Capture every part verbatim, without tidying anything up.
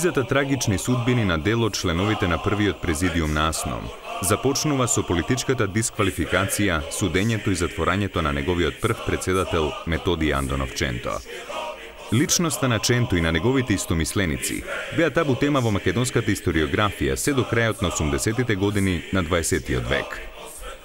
Низата трагични судбини на дел од членовите на првиот президиум на АСНОМ започнува со политичката дисквалификација, судењето и затворањето на неговиот прв председател Методи Андонов Ченто. Личноста на Ченто и на неговите истомисленици беа табу тема во македонската историографија се до крајот на осумдесетите години на дваесеттиот век.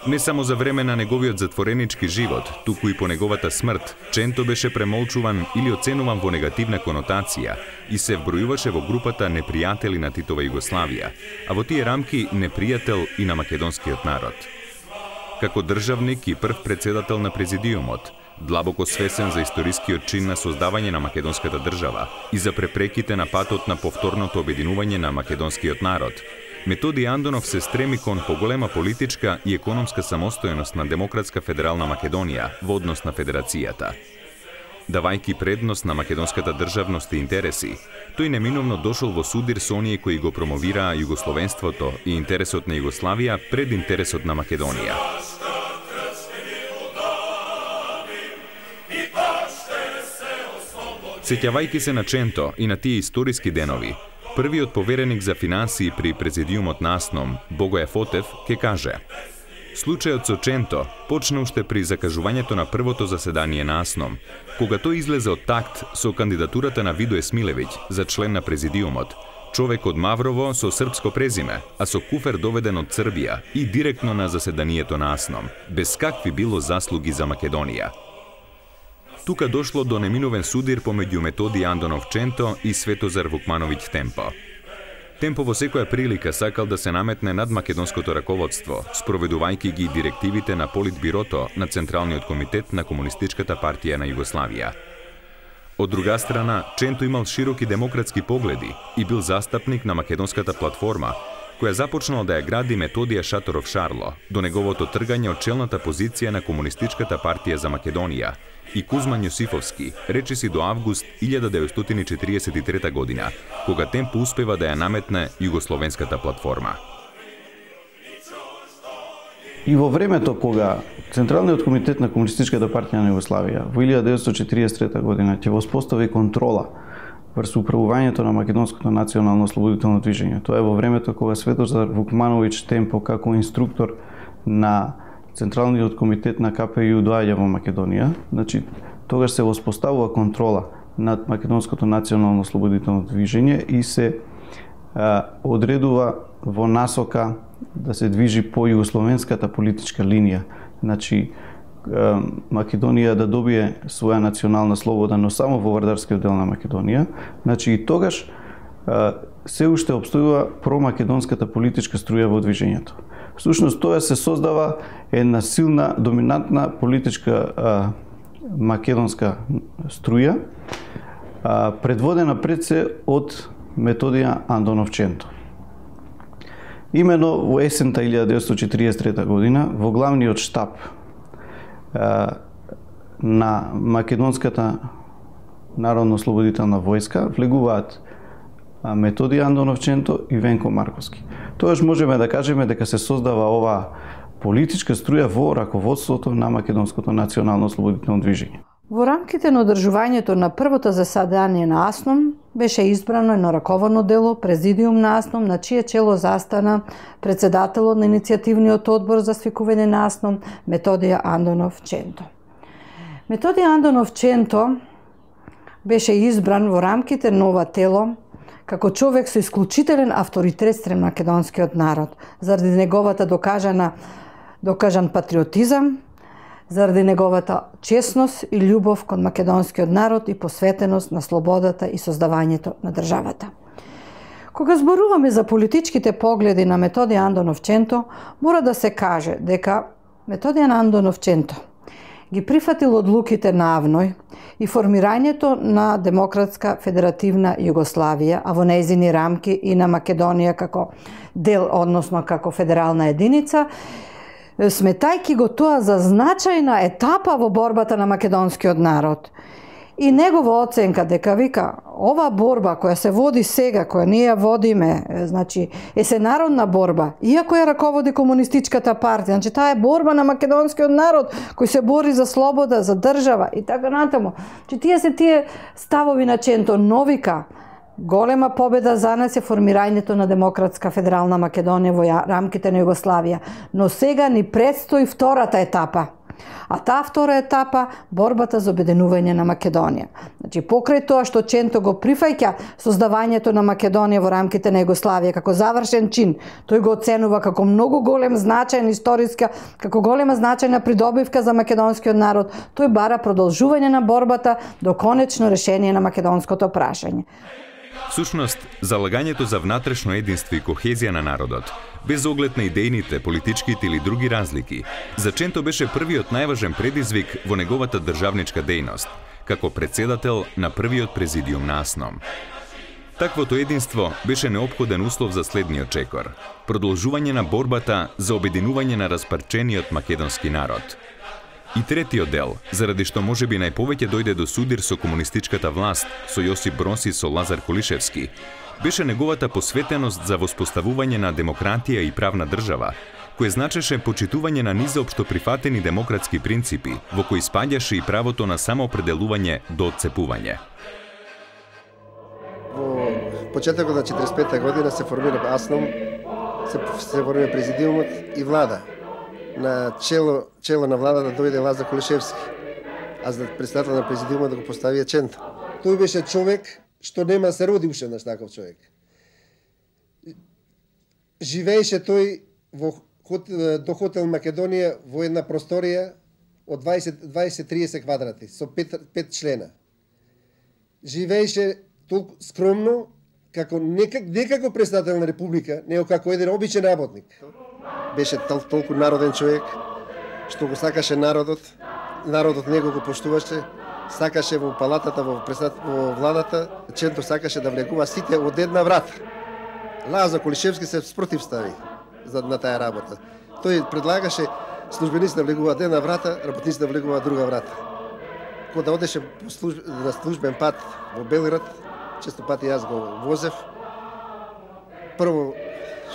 Не само за време на неговиот затворенички живот, туку и по неговата смрт, Ченто беше премолчуван или оценуван во негативна конотација и се вбројуваше во групата непријатели на Титова Југославија, а во тие рамки непријател и на македонскиот народ. Како државник и прв председател на президиумот, длабоко свесен за историскиот чин на создавање на македонската држава и за препреките на патот на повторното обединување на македонскиот народ, Методи Андонов се стреми кон поголема политичка и економска самостојност на Демократска федерална Македонија во однос на федерацијата. Давајки предност на македонската државност и интереси, тој неминовно дошол во судир со оние кои го промовираа југословенството и интересот на Југославија пред интересот на Македонија. Сеќавајки се на Ченто и на тие историски денови, првиот повереник за финансии при президиумот на АСНОМ, Богоја Фотев, ке каже: случајот со Ченто почна уште при закажувањето на првото заседание на АСНОМ, кога тој излезе од такт со кандидатурата на Видо Есмилевиќ за член на президиумот, човек од Маврово со српско презиме, а со куфер доведен од Србија и директно на заседанието на АСНОМ, без какви било заслуги за Македонија. Тука дошло до неминовен судир помеѓу Методи Андонов Ченто и Светозар Вукмановиќ Темпо. Темпо во секоја прилика сакал да се наметне над македонското раководство, спроведувајќи ги директивите на Политбирото на Централниот комитет на Комунистичката партија на Југославија. Од друга страна, Ченто имал широки демократски погледи и бил застапник на македонската платформа, која започнала да ја гради Методија Шаторов Шарло до неговото тргање од челната позиција на Комунистичката партија за Македонија и Кузман Јосифовски, речиси до август илјада деветстотини четиридесет и трета година, кога Темпо успева да ја наметне југословенската платформа. И во времето кога Централниот комитет на Комунистичката партија на Југославија во илјада деветстотини четиридесет и трета година ќе воспостави контрола врз управувањето на македонското национално ослободително движење. Тоа е во времето кога Светозар Вукмановиќ Темпо како инструктор на Централниот комитет на ка пе ју доаѓа во Македонија, значи тогаш се воспоставува контрола над македонското национално ослободително движење и се а, одредува во насока да се движи по југословенската политичка линија. Значи а, Македонија да добие своја национална слобода, но само во вардарскиот дел на Македонија. Значи и тогаш а, се уште обстојува промакедонската политичка струја во движењето. Всушност тоа се создава една силна, доминантна политичка а, македонска струја, а, предводена пред се од Методија Андонов Ченто. Имено во есента илјада деветстотини четиридесет и трета година во главниот штаб а, на македонската народно-ослободителна војска влегуваат Методи Андонов Ченто и Венко Марковски. Тоаш можеме да кажеме дека се создава оваа политичка струја во раководството на македонското национално ослободително движење. Во рамките на одржувањето на првото заседание на АСНОМ беше избрано едно раководно дело, президиум на АСНОМ, на чие чело застана председателот на иницијативниот одбор за свикување на АСНОМ Методија Андонов Ченто. Методија Андонов Ченто беше избран во рамките на ова тело како човек со исклучителен авторитет спрем македонскиот народ, заради неговата докажана докажан патриотизам, заради неговата честност и љубов кон македонскиот народ и посветеност на слободата и создавањето на државата. Кога зборуваме за политичките погледи на Методија Андонов Ченто, мора да се каже дека Методија Андонов Ченто ги прифатил одлуките на Авној и формирањето на Демократска федеративна Југославија, а во нејзини рамки и на Македонија како дел, односно како федерална единица, сметајки го тоа за значајна етапа во борбата на македонскиот народ. И негова оценка дека вика ова борба која се води сега, која ние ја водиме, значи е се народна борба, иако ја раководи Комунистичката партија, значи таа е борба на македонскиот народ кој се бори за слобода, за држава и така натаму. Че тие се тие ставови на Ченто, но вика Голема победа за нас е формирањето на Демократска федерална Македонија во рамките на Југославија, но сега ни предстои втората етапа. А таа втора етапа борбата за обединување на Македонија. Значи покрај тоа што Ченто го прифаќа создавањето на Македонија во рамките на Југославија како завршен чин, тој го оценува како многу голем значаен историска, како голема значајна придобивка за македонскиот народ. Тој бара продолжување на борбата до конечно решение на македонското прашање. Всушност, залагањето за внатрешно единство и кохезија на народот, без оглед на идејните, политичките или други разлики, за Ченто беше првиот најважен предизвик во неговата државничка дејност, како председател на првиот президиум на АСНОМ. Таквото единство беше неопходен услов за следниот чекор – продолжување на борбата за обединување на распарчениот македонски народ. И третиот дел, заради што можеби најповеќе дојде до судир со комунистичката власт, со Јосип Броз и со Лазар Колишевски, беше неговата посветеност за воспоставување на демократија и правна држава, кој значеше почитување на низоопшто прифатени демократски принципи, во кои спаѓаше и правото на самоопределување до отцепување. Во почетокот на четиридесет и пета година се формира АСНОМ, се, се формира президиумот и влада. На чело, чело на владата дојде Лазар Колишевски, а за председател на президиумот да го поставија Ченто. Тој беше човек што нема се роди уште на таков човек. Живееше тој во до хотел Македонија во една просторија од дваесет до триесет квадрати со пет, пет члена. Живееше толку скромно како не, не како председател на република, него како еден обичен работник. Беше тол, толку народен човек, што го сакаше народот, народот него го поштуваше, сакаше во палатата, во, во владата, Ченто сакаше да влегува сите од една врата. Лазар Колишевски се спротивстави за, на таа работа. Тој предлагаше службеници да влегуваат една врата, работници да влегуваат друга врата. Кога одеше служб, на службен пат во Белград, често пати јас го возев, прво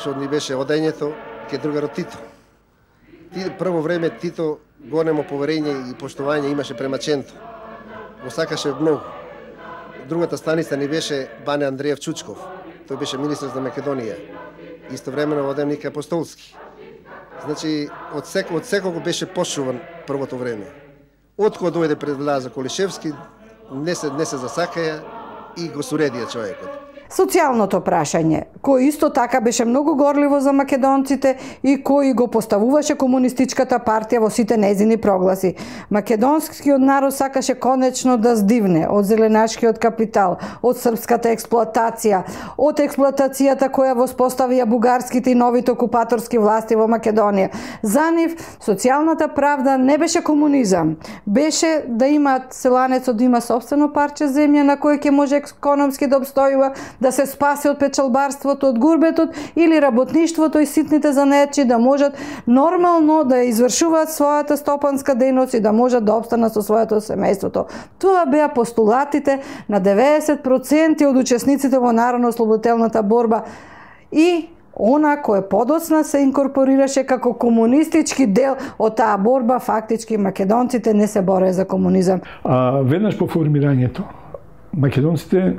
што ни беше одењето, ке другарот Тито. Прво време Тито големо поверење и поштување имаше према Ченто. Го сакаше многу. Другата станица ни беше Бане Андреев Чучков. Тој беше министр за Македонија. Истовремено водевник Апостолски. Значи, од, сек, од секого беше пошуван првото време. Откога дојде пред Лазар Колишевски, не се, не се засакаја и го суредија човекот. Социјалното прашање, кој исто така беше многу горливо за македонците и кој го поставуваше комунистичката партија во сите нејзини прогласи. Македонскиот народ сакаше конечно да здивне од зеленашкиот капитал, од српската експлоатација, од експлоатацијата која воспоставија бугарските и новите окупаторски власти во Македонија. За нив социјалната правда не беше комунизам, беше да имаат селанецот да има сопствено парче земја на кој ќе може економски да обстојува, да се спаси од печалбарството, од гурбетот или работништвото и ситните занаетчи, да можат нормално да извршуваат својата стопанска дејност и да можат да обстанат со своето семејството. Тоа беа постулатите на деветдесет проценти од учесниците во народно-ослободителната борба и она кој подоцна се инкорпорираше како комунистички дел од таа борба, фактички македонците не се борее за комунизам. А веднаш по формирањето, македонците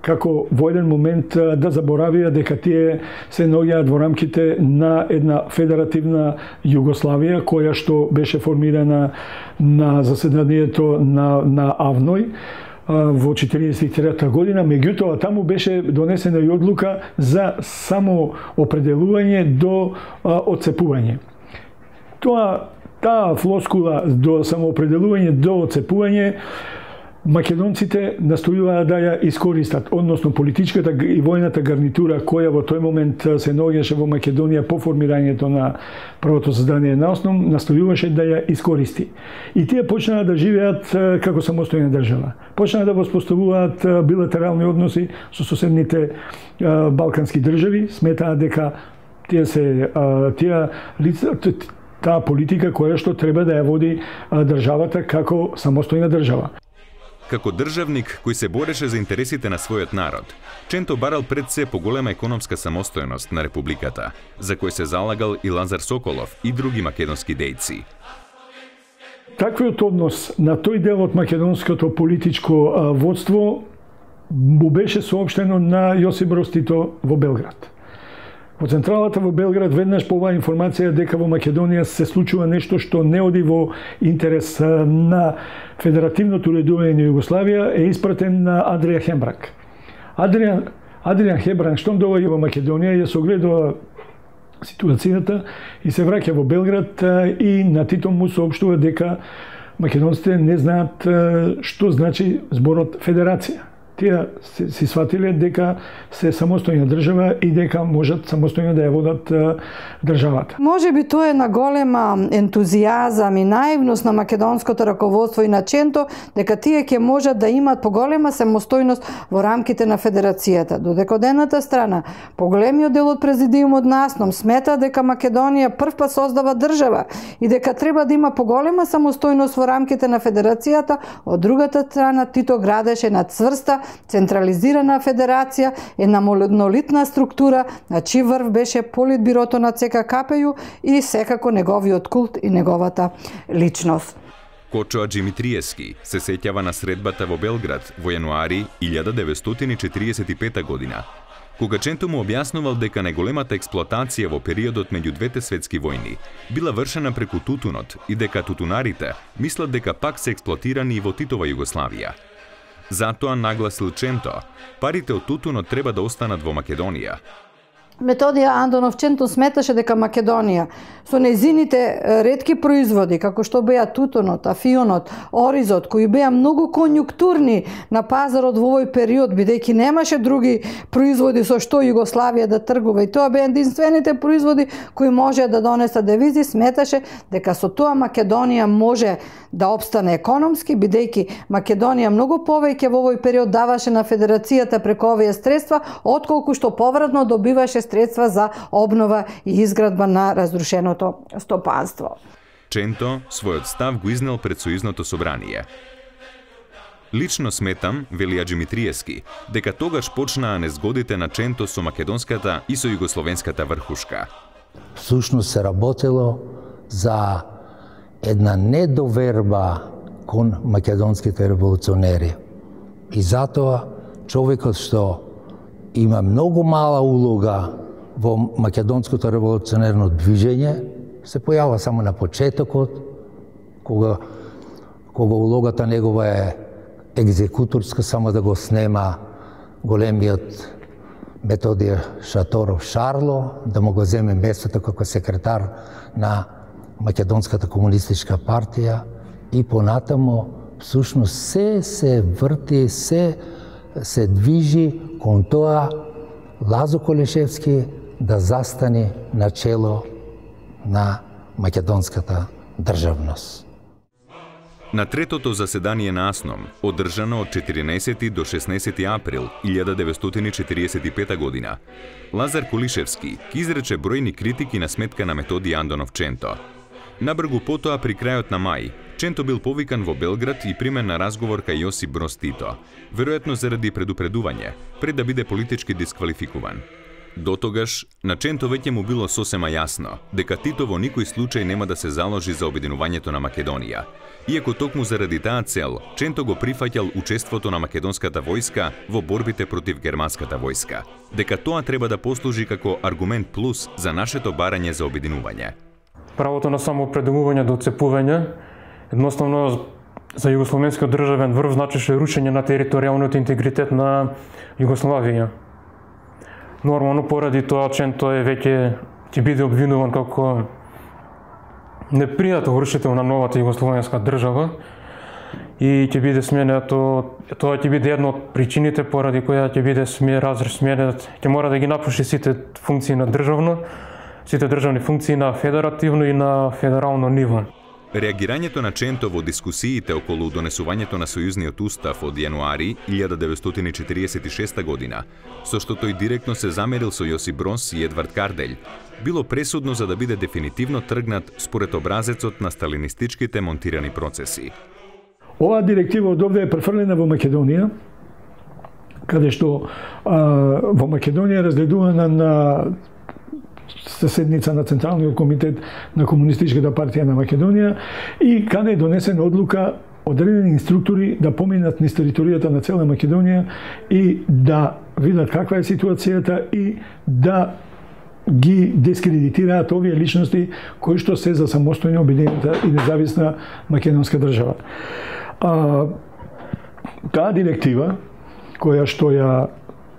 како во еден момент да заборавија дека тие се наоѓаат во рамките на една федеративна Југославија, која што беше формирана на заседанието на, на АВНОј во четириесет и трета година, меѓутоа таму беше донесена и одлука за само определување до а, отцепување. Тоа, таа флоскула до самоопределување до отцепување македонците настојуваа да ја искористат, односно политичката и војната гарнитура која во тој момент се наоѓаше во Македонија по формирањето на првото создание на АСНОМ, настојуваше да ја искористи. И тие почнаа да живеат како самостојна држава. Почнаа да воспоставуваат билатерални односи со соседните балкански држави, сметаа дека тие се тие лица таа политика која што треба да ја води државата како самостојна држава. Како државник кој се бореше за интересите на својот народ, Ченто барал пред се поголема економска самостојност на републиката, за кој се залагал и Лазар Соколов и други македонски дејци. Таквиот однос на тој дел од македонското политичко водство му беше соопштено на Јосип Броз Тито во Белград. Во централата во Белград веднаш по оваа информација дека во Македонија се случува нешто што не оди во интерес на федеративното уредување на Југославија е испратен на Адриан Хембранг. Адриан, Адриан Хембранг штом доаѓа во Македонија ја согледува ситуацијата и се враќа во Белград и на Тито му соопштува дека македонците не знаат што значи зборот федерација. Тие си сватиле дека се самостојна држава и дека можат самостојно да ја водат државата. Може би тоа е на голема ентузијазам и наивност на македонското раководство и на Ченто дека тие ќе можат да имат поголема самостојност во рамките на федерацијата. Додека од едната страна поголемиот дел од президиумот на АСНОМ смета дека Македонија првпат создава држава и дека треба да има поголема самостојност во рамките на федерацијата, од другата страна Тито градеше на цврста централизирана федерација, една монолитна структура, на чиј врв беше политбирото на ЦК-КПЈ и секако неговиот култ и неговата личност. Кочо Аџимитриевски се сеќава на средбата во Белград во јануари илјада деветстотини и четиридесет и пета година, кога Ченто му објаснувал дека најголемата експлоатација во периодот меѓу двете светски војни била вршена преку тутунот и дека тутунарите мислат дека пак се експлоатирани и во Титова Југославија. Затоа нагласил Ченто, парите од тутунот треба да останат во Македонија. Методија Андонов Ченто сметаше дека Македонија со нејзините ретки производи, како што беа тутунот, афионот, оризот, кои беа многу конјунктурни на пазарот во овој период, бидејќи немаше други производи со што Југославија да тргува и тоа беа единствените производи кои може да донесат девизи, сметаше дека со тоа Македонија може да обстане економски, бидејќи Македонија многу повеќе во овој период даваше на федерацијата преку овие средства, отколку што повратно добиваше средства за обнова и изградба на разрушеното стопанство. Ченто својот став го изнел пред Сојузното собрание. Лично сметам, вели Аџимитриевски, дека тогаш почнаа незгодите на Ченто со македонската и со југословенската врхушка. Всушност се работело за една недоверба кон македонските револуционери. И затоа човекот што има многу мала улога во македонското револуционерно движење, се појава само на почетокот, кога, кога улогата негова е екзекуторска, само да го снема големиот Методија Шаторов Шарло, да му го земе местото како секретар на Македонската комунистичка партија и понатамо всушност се се врти, се се движи кон тоа Лазо Колешевски да застане на чело на македонската државност. На третото заседание на АСНОМ, одржано од четиринаесети до шеснаесети април илјада деветстотини и четириесет и пета година, Лазар Колишевски ги изрече бројни критики на сметка на Методија Андонов Ченто. Набргу потоа при крајот на мај, Ченто бил повикан во Белград и примен на разговор кај Јосип Броз Тито, веројатно заради предупредување, пред да биде политички дисквалификуван. Дотогаш, на Ченто веќе му било сосема јасно дека Тито во никој случај нема да се заложи за обединувањето на Македонија. Иако токму заради таа цел, Ченто го прифаќал учеството на македонската војска во борбите против германската војска, дека тоа треба да послужи како аргумент плюс за нашето барање за обединување. Правото на самоопределување до отцепување, едноставно за југословенскиот државен врв значеше рушење на територијалниот интегритет на Југославија. Нормално поради тоа Ченто е веќе ќе биде обвинуван како непријател рушител на новата југословенска држава и ќе биде сменето, тоа ќе биде една од причините поради која ќе биде сме разрешменет, ќе мора да ги напуши сите функции на државно, сите државни функции на федеративно и на федерално ниво. Реагирањето на Ченто во дискусиите околу донесувањето на Сојузниот устав од јануари илјада деветстотини и четириесет и шеста година, со што тој директно се замерил со Јосип Броз и Едвард Карделј, било пресудно за да биде дефинитивно тргнат според образецот на сталинистичките монтирани процеси. Оваа директива од овде е префрлена во Македонија, каде што а, во Македонија разгледувана на седница на Централниот комитет на Комунистичката партија на Македонија и каде е донесена одлука одредени инструктори да поминат низ територијата на цела Македонија и да видат каква е ситуацијата и да ги дискредитираат овие личности кои што се за самостојна, обединета и независна македонска држава. А, таа директива, која што ја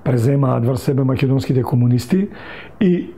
преземаат врз себе македонските комунисти и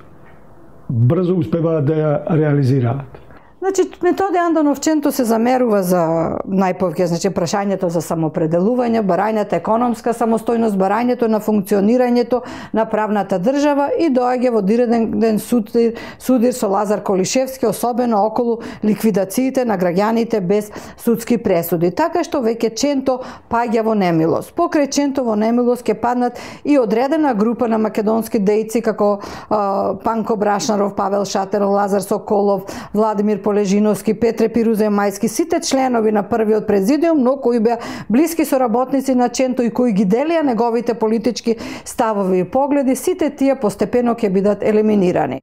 брзо успеваат да ја реализираат. Значи, Методија Андонов-Ченто се замерува за најповеќе, значи, прашањето за самопределување, барањето економска самостојност, барањето на функционирањето на правната држава и доаѓа во директен судир, судир со Лазар Колишевски, особено околу ликвидациите на граѓаните без судски пресуди. Така што веќе Ченто паѓа во немилост. Покрај Ченто во немилост ќе паднат и одредена група на македонски дејци како а, Панко Брашнаров, Павел Шатеров, Лазар Соколов, Владимир Полежиновски, Петре Пируземајски, сите членови на првиот президиум, но кои беа блиски соработници на Ченто и кои ги делија неговите политички ставови и погледи, сите тие постепено ќе бидат елиминирани.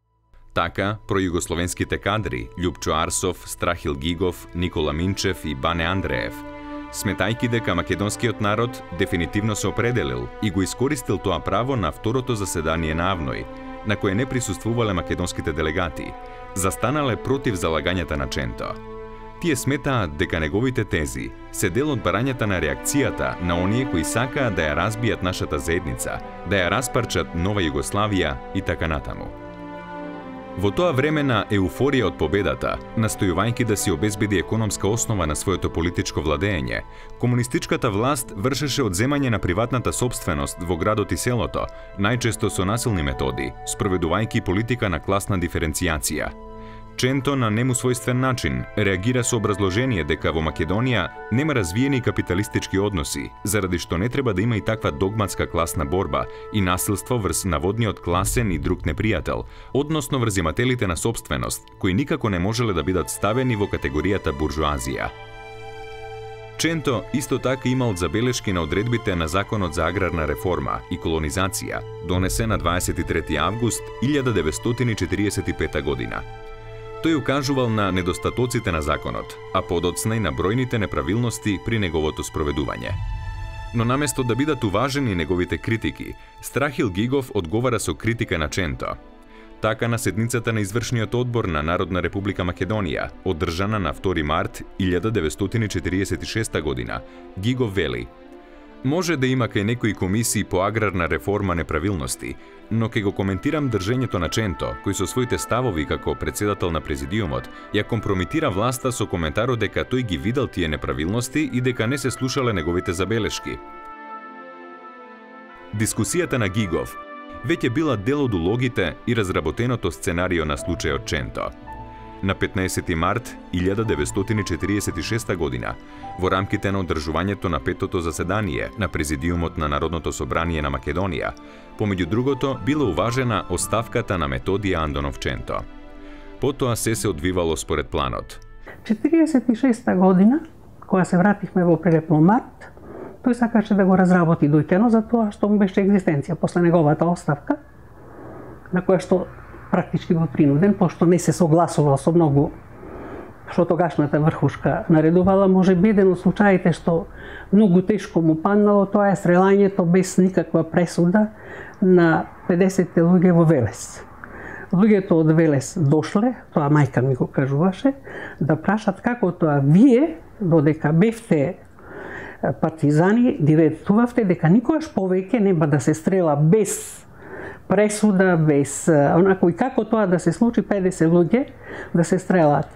Така, пројугословенските кадри Љупчо Арсов, Страхил Гигов, Никола Минчев и Бане Андреев, сметајки дека македонскиот народ дефинитивно се определил и го искористил тоа право на второто заседание на АВНОј, на кое не присуствувале македонските делегати, застанале против залагањата на Ченто. Тие сметаат дека неговите тези се дел од барањата на реакцијата на оние кои сакаат да ја разбијат нашата заедница, да ја распарчат нова Југославија и така натаму. Во тоа време на еуфорија од победата, настојувајќи да си обезбеди економска основа на своето политичко владење, комунистичката власт вршеше одземање на приватната сопственост во градот и селото, најчесто со насилни методи, спроведувајќи политика на класна диференцијација. Ченто на нему својствен начин реагира со образложение дека во Македонија нема развиени капиталистички односи, заради што не треба да има и таква догматска класна борба и насилство врз наводниот класен и друг непријател, односно врз имателите на сопственост, кои никако не можеле да бидат ставени во категоријата буржуазија. Ченто исто така имал забелешки на одредбите на Законот за аграрна реформа и колонизација, донесен на дваесет и трети август илјада деветстотини четиридесет и пета година. Тој укажувал на недостатоците на законот, а подоцна и на бројните неправилности при неговото спроведување. Но наместо да бидат уважени неговите критики, Страхил Гигов одговара со критика на Ченто. Така на седницата на извршниот одбор на Народна република Македонија, одржана на втори март илјада деветстотини четиридесет и шеста година, Гигов вели: може да има кај некои комисии по аграрна реформа неправилности, но ке го коментирам држењето на Ченто, кој со своите ставови како председател на президиумот ја компрометира власта со коментарот дека тој ги видел тие неправилности и дека не се слушале неговите забелешки. Дискусијата на Гигов веќе била дел од улогите и разработеното сценарио на случајот Ченто. На петнаесети март илјада деветстотини четиридесет и шеста година, во рамките на одржувањето на петото заседание на Президиумот на Народното собрание на Македонија, помеѓу другото била уважена оставката на Методија Андонов-Ченто. Потоа се се одвивало според планот. четиридесет и шеста година, кога се вративме во Прелепно март, тој сакаше да го разработи дојтено за тоа што му беше екзистенција после неговата оставка, на која што практички бил принуден, пошто не се согласувал со многу што тогашната врхушка наредувала. Може би еден од случаите што многу тешко му паднало, тоа е стрелањето без никаква пресуда на педесет луѓе во Велес. Луѓето од Велес дошле, тоа мајка ми го кажуваше, да прашат како тоа вие, додека бевте партизани, диретувавте дека никогаш повеќе нема да се стрела без пресуда, без онако, и како тоа да се случи педесет луѓе да се стрелат.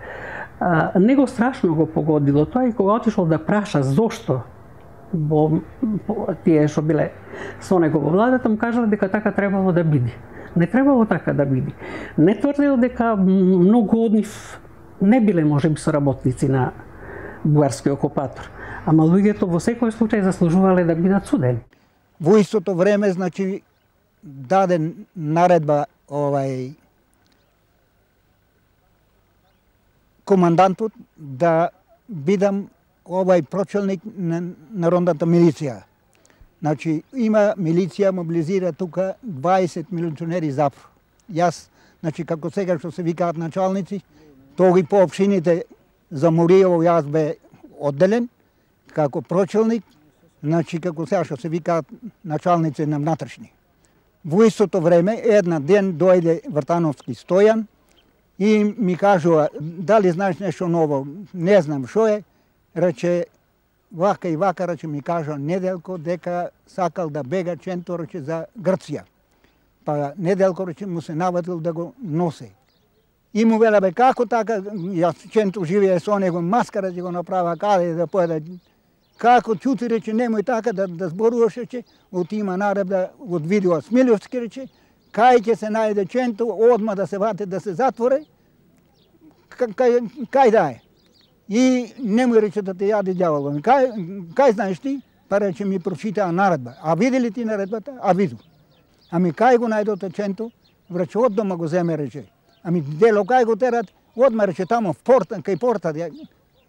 А, него страшно го погодило тоа и кога отишол да праша зошто бо, тие што биле со него во владата, му кажал дека така требало да биде. Не требало така да биде. Не тврдел дека многу од нив не биле можеби соработници на бугарскиот окупатор, ама луѓето во секој случај заслужувале да бидат судени. Во истото време, значи, даде наредба овај командантот да бидам овај прочелник на народната милиција. Значи, има милиција, мобилизира тука дваесет милиционери запор. Јас, значи, како сега што се викаат началници, тоги по општините за Муриево јас бе одделен како прочелник, значи како сега што се викаат началници на внатрешни. Во истото време една ден дојде Вртановски Стојан и ми кажува дали знаеш нешто ново, не знам што е, рече вака и вака, рече ми кажа Неделко дека сакал да бега Ченто, рече за Грција. Па Неделко, рече, му се навадил да го носи. И му веле, бе, како така, јас Ченто живее со него, маскара ќе го направа каде да поеде. Како чути, рече, немој така да, да зборуваш, рече, отима наредба од видео Смилевски, рече, кај ќе се најде Ченто, одма да се вате, да се затворе, кај, кај да е. И немој, рече, да те јаде ѓаволот. Кај, кај знаеш ти? Па рече, ми прочитаа наредба. А види ли ти наредбата? А виду. Ами кај го најдоте Ченто? Рече, од дома го земе, рече. Ами дело кај го терат? Одма, рече, тамо в порта, кај порта,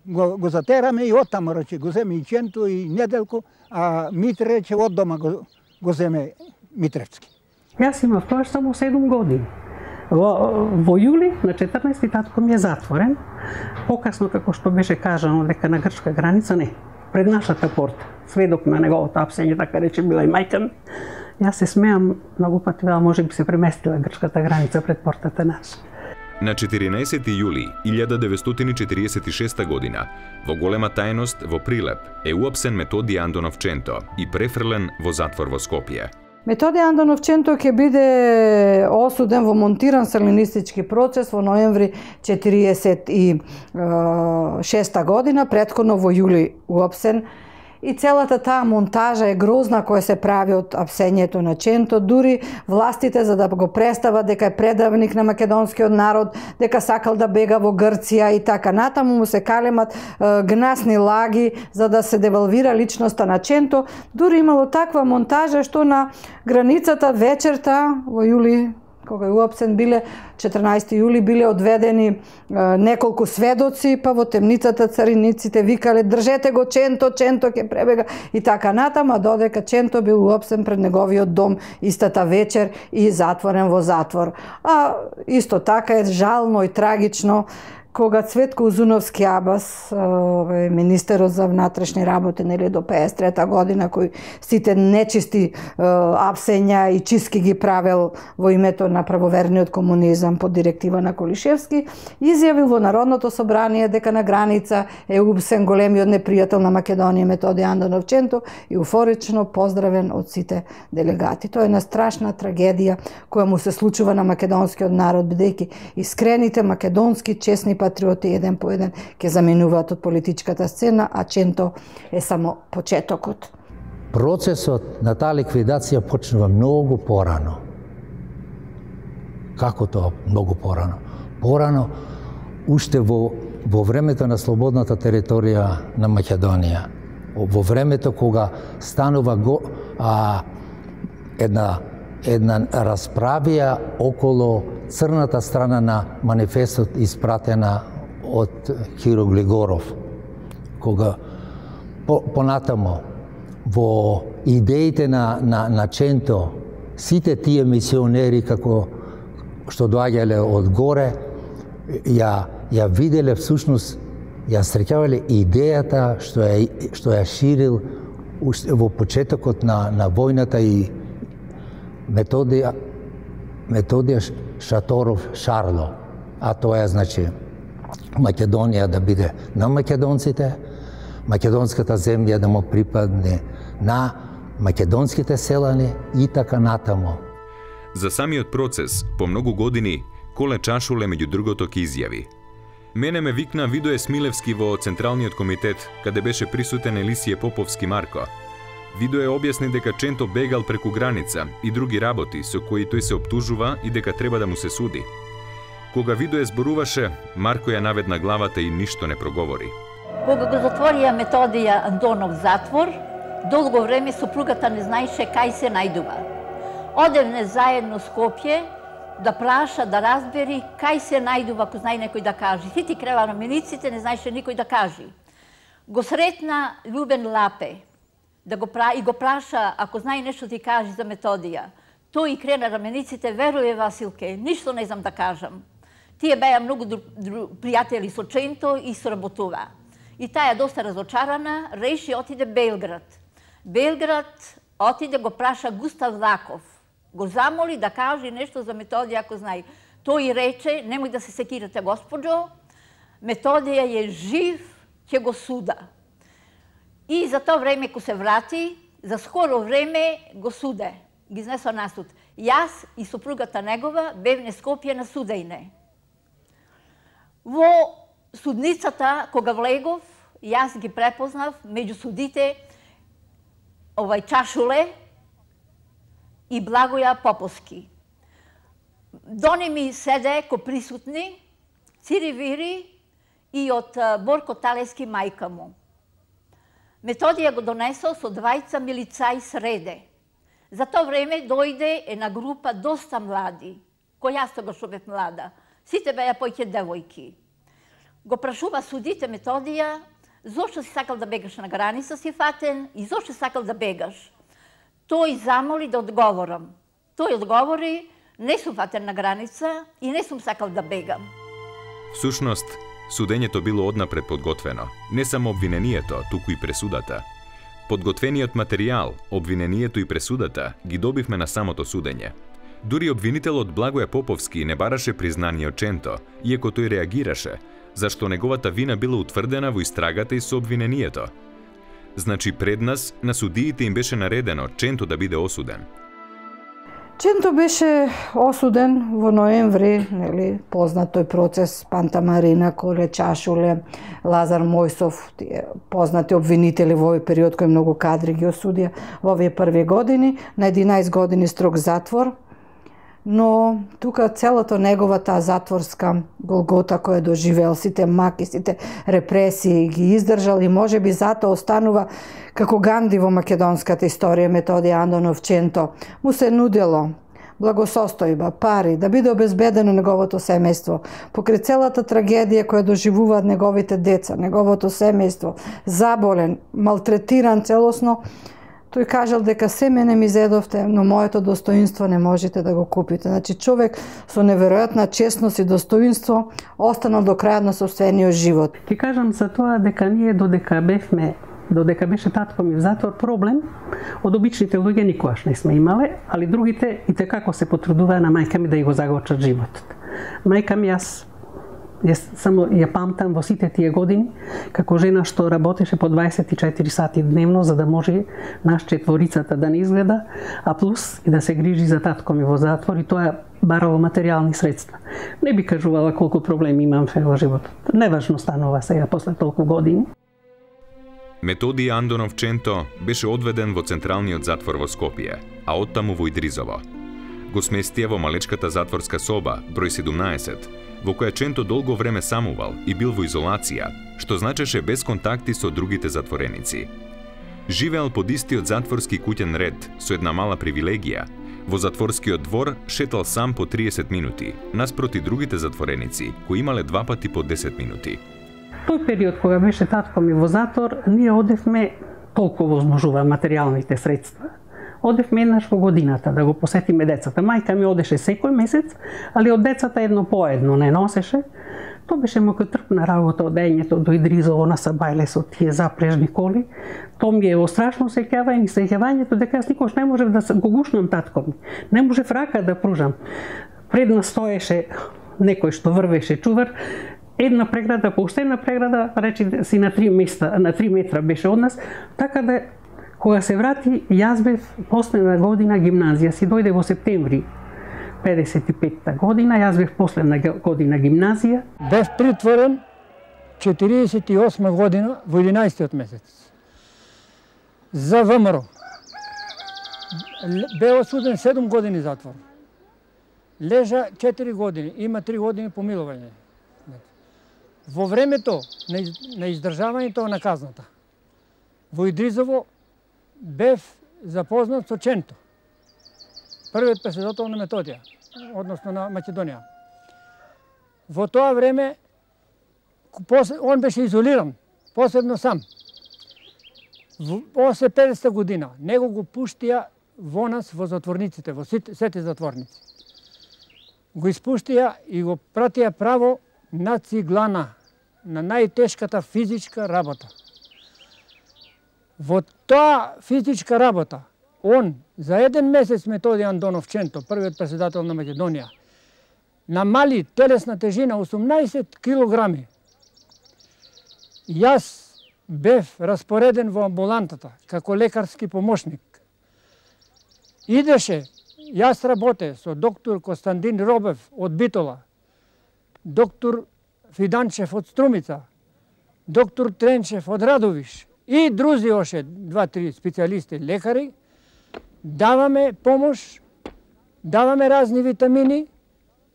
го, го затераме и оттамо, рече, го земе и Ченто и Неделко, а Митре, рече, од дома го, го земе Митревски. Јас имав тоа само седум години. Во, во јули на четрнаесети татко ми е затворен. Покасно, како што беше кажано, дека на грчка граница, не, пред нашата порта, сведок на неговото апсење, така рече, била и мајка ми. Јас се смеам многу пати, да може би се преместила грчката граница пред портата наша. На четирнаесети јули илјада деветстотини четиридесет и шеста година, во голема тајност во Прилеп, е уапсен Методи Андонов Ченто и префрлен во затвор во Скопје. Методи Андонов Ченто ќе биде осуден во монтиран салинистички процес во ноември четиридесет и шеста година, претходно во јули уапсен. И целата таа монтажа е грозна која се прави од апсењето на Ченто, дури властите за да го представат дека е предавник на македонскиот народ, дека сакал да бега во Грција и така натаму му се калемат е, гнасни лаги за да се девалвира личноста на Ченто. Дури имало таква монтажа што на границата вечерта во јули, кога е уапсен, биле четрнаесети јули биле одведени е, неколку сведоци, па во темницата цариниците викале држете го Ченто, Ченто ќе пребега и така натаму, а додека Ченто бил уапсен пред неговиот дом истата вечер и затворен во затвор. А исто така е жално и трагично кога Цветко Узуновски Абас, министерот за внатрешни работи, нели, до пеесет и трета година, кој сите нечисти апсења и чистки ги правел во името на правоверниот комунизам под директива на Колишевски, изјавил во Народното собрание дека на граница е убсен големиот непријател на Македонија Методи Андонов Ченто и уфорично поздравен од сите делегати. Тоа е една страшна трагедија која му се случува на македонскиот народ, бидејќи искрените македонски честни патриоти еден по еден ќе заминуваат од политичката сцена, а Ченто е само почетокот. Процесот на таа ликвидација почнува многу порано. Како тоа многу порано? Порано, уште во, во времето на слободната територија на Македонија, во времето кога станува го, а, една, една расправија околу црната страна на манифестот испратена од Киро Глигоров, кога по, понатамо во идеите на, на, на Ченто, сите тие мисионери како што доаѓале од горе, ја, ја виделе всушност, ја среќавале идејата што ја, што ја ширил во почетокот на, на војната и Методија, Методија Шаторов Шарло, а тоа е, значи, Македонија да биде на македонците, македонската земја да му припадне на македонските селани и така натаму. За самиот процес, по многу години, Коле Чашуле меѓу другото ки изјави: мене ме викна Видое Смилевски во Централниот комитет, каде беше присутен Елисије Поповски Марко. Видое објасни дека Ченто бегал преку граница и други работи со кои тој се оптужува и дека треба да му се суди. Кога Видое зборуваше, Марко ја наведна главата и ништо не проговори. Кога го затворија Методија Андонов затвор, долго време супругата не знаеше кај се најдува. Одевне заедно Скопје да праша, да разбери кај се најдува, ако знае некој да каже. Сити крела на милиците, не знаеше никој да каже. Го сретна Љубен Лапе да го пра... и го праша, ако знае нешто ти каже за Методија. Тој и крена рамениците, веруе Василке, ништо не знам да кажам. Тие беа многу дру... дру... пријатели со Ченто и соработува. И таа доста разочарана, реши отиде Белград. Белград отиде го праша Густав Лаков. Го замоли да каже нешто за Методија, ако знае. Тој рече, немој да се секирате, господјо, Методија е жив, ќе го суда. И за тоа време, ко се врати, за скоро време го суде. Ги изнесо на суд. Јас и супругата негова бевне Скопје на судејне. Во судницата, кога влегов, јас ги препознав меѓу судите овај Чашуле и Благоја Поповски. Дони ми седе ко присутни Цири Вири и од Борко Талески мајка му. Методија го донесол со двајца милицаи среде. За тоа време дојде една група доста млади, кој јас тогаш бев млада. Сите беа поќе девојки. Го прашува судите Методија, зошто си сакал да бегаш на граница, си фатен, и зошто сакал да бегаш? Тој замоли да одговорам. Тој одговори, не сум фатен на граница и не сум сакал да бегам. Всушност, судењето било однапред подготвено. Не само обвинението, туку и пресудата. Подготвениот материјал, обвинението и пресудата ги добивме на самото судење. Дури обвинителот Благоја Поповски не бараше признание од Ченто, иако тој реагираше, зашто неговата вина била утврдена во истрагата и со обвинението. Значи пред нас, на судиите им беше наредено Ченто да биде осуден. Ченто беше осуден во ноември, нели, познат тој процес, Панта Марина, Коле Чашуле, Лазар Мојсов, тие познати обвинители во овој период кој многу кадри ги осудија во овие први години, на единаесет години строг затвор, но тука целото неговата затворска голгота која доживеал, сите маки, сите репресии ги издржал и можеби затоа останува како Ганди во македонската историја. Методија Андонов Ченто му се нудело благосостојба, пари, да биде обезбедено неговото семејство. Покрај целата трагедија која доживуваат неговите деца, неговото семејство, заболен, малтретиран целосно, тој кажал дека се мене ми зедовте, но моето достоинство не можете да го купите. Значи човек со неверојатна честност и достоинство останал до крајот на собствениот живот. Ти кажам за тоа дека ние додека бевме, додека беше татко ми в затвор, проблем од обичните луѓе никогаш не сме имале, али другите и текако се потрудуваа на мајка ми да ја го загорчат животот. Мајка ми, јас Јас само ја памтам во сите тие години како жена што работеше по дваесет и четири сати дневно за да може наш четворицата да не изгледа, а плюс и да се грижи за татко ми во затвор, и тоа барало материјални средства. Не би кажувала колку проблеми имам во животот. Неважно станува сега после толку години. Методија Андонов Ченто беше одведен во централниот затвор во Скопје, а оттаму во Идризово. Го сместија во малечката затворска соба, број седумнаесет, во која Ченто долго време самувал и бил во изолација, што значеше без контакти со другите затвореници. Живеел под истиот затворски куќен ред со една мала привилегија. Во затворскиот двор шетал сам по триесет минути, наспроти другите затвореници, кои имале два пати по десет минути. Тој период кога беше татко ми во затвор, ние одевме, толку возможува материјалните средства, одевме еднаш во годината да го посетиме децата. Мајка ми одеше секој месец, али од децата едно по едно не носеше. Тоа беше мокотрпна работа од дењето до Идризово на Сабајле со тие запрежни коли. Тоа ми е во страшно сеќавање, сеќавањето дека јас никош не можев да го гушнам татко ми. Не можев рака да пружам. Пред нас стоеше некој што врвеше чувар, една преграда по уште една преграда, речи си на три места, на три метра беше од нас, така да кога се врати, јас бев последна година гимназија, си дојде во септември педесет и петта година, јас бев последна година гимназија. Бев притворен четириесет и осма година во единаесеттиот месец за ВМРО. Бе осуден седум години затвор. Лежа четири години, има три години помилување. Во времето на издржавањето на казната во Идризово бев запознат со Ченто, првиот председател на Методија, односно на Македонија. Во тоа време он беше изолиран, посебно сам. После педесета година него го пуштија во нас во затворниците, во сите затворници. Го испуштија и го пратија право на Циглана, на најтешката физичка работа. Во таа физичка работа, он за еден месец Методи Андонов Ченто, првиот председател на Македонија, намали телесна тежина осумнаесет килограми. Јас бев распореден во амбулантата како лекарски помошник. Идеше, јас работе со доктор Константин Робев од Битола, доктор Фиданчев од Струмица, доктор Тренчев од Радовиш и друзи оше два-три специјалисти лекари. Даваме помош, даваме разни витамини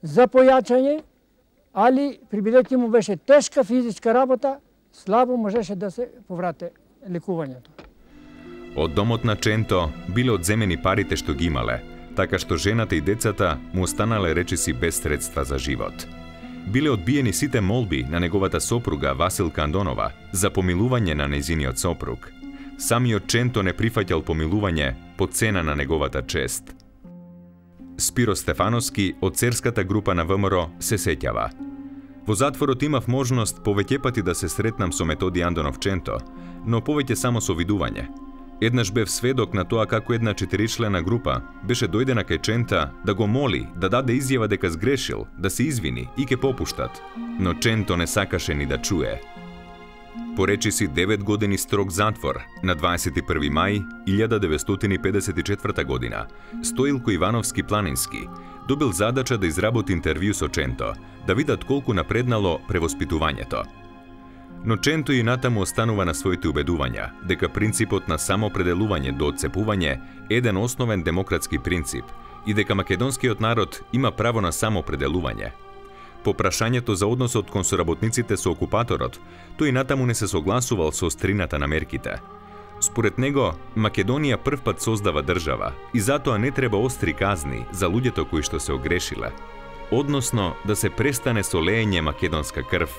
за појачање, али прибидејќи му беше тешка физичка работа, слабо можеше да се поврате лекувањето. Од домот на Ченто биле одземени парите што ги имале, така што жената и децата му останале речиси без средства за живот. Биле одбиени сите молби на неговата сопруга Василка Андонова за помилување на нејзиниот сопруг. Самиот Ченто не прифаќал помилување по цена на неговата чест. Спиро Стефановски од церската група на ВМРО се сеќава. Во затворот имав можност повеќе пати да се сретнам со Методи Андонов Ченто, но повеќе само со видување. Еднаш бев сведок на тоа како една четиричлена група беше дојдена кај Чента да го моли да даде изјава дека сгрешил, да се извини и ке попуштат, но Ченто не сакаше ни да чуе. Поречи си девет години строг затвор на дваесет и први мај илјада деветстотини и педесет и четврта година. Стоилко Ивановски Планински добил задача да изработи интервју со Ченто, да видат колку напреднало превоспитувањето. Но Ченто и натаму останува на своите убедувања дека принципот на самоопределување до отцепување е еден основен демократски принцип и дека македонскиот народ има право на самоопределување. По прашањето за односот кон соработниците со окупаторот, тој и натаму не се согласувал со острината на мерките. Според него, Македонија првпат создава држава и затоа не треба остри казни за луѓето кои што се огрешиле, односно да се престане со леење македонска крв.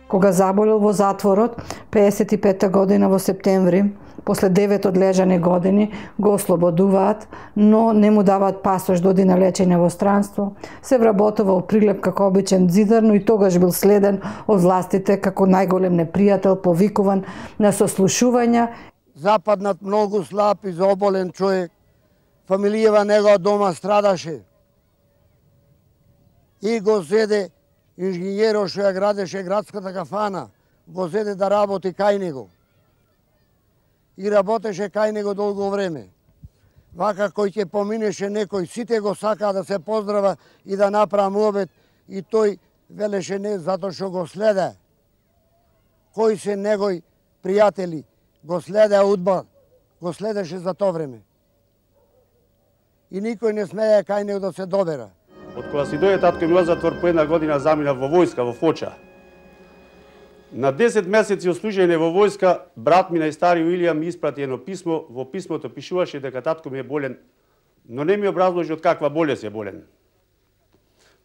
Кога заболел во затворот, пеесет и пета година во септември, после девет одлежани години, го ослободуваат, но не му даваат пасош да оди на лечење во странство. Се вработува во Прилеп како обичен дзидар, но и тогаш бил следен од властите како најголем непријател, повикуван на сослушувања. Западнат многу слаб и заоболен човек. Фамилијава негова дома страдаше. И го зеде инженјерот што ја градеше градската кафана, го зеде да работи кај него. И работеше кај него долго време. Вака кој ќе поминеше некој, сите го сакаа да се поздрава и да направи муабет, и тој велеше не затоа што го следе. Кои се негови пријатели го следеа удба, го следеше за тоа време. И никој не смеја кај него да се добера. Од кога си дојде татко ми во затвор, по една година замина во војска, во Фоча. На десет месеци ослужење во војска, брат ми најстари Илија ми испрати едно писмо, во писмото пишуваше дека татко ми е болен, но не ми образложи од каква болест е болен.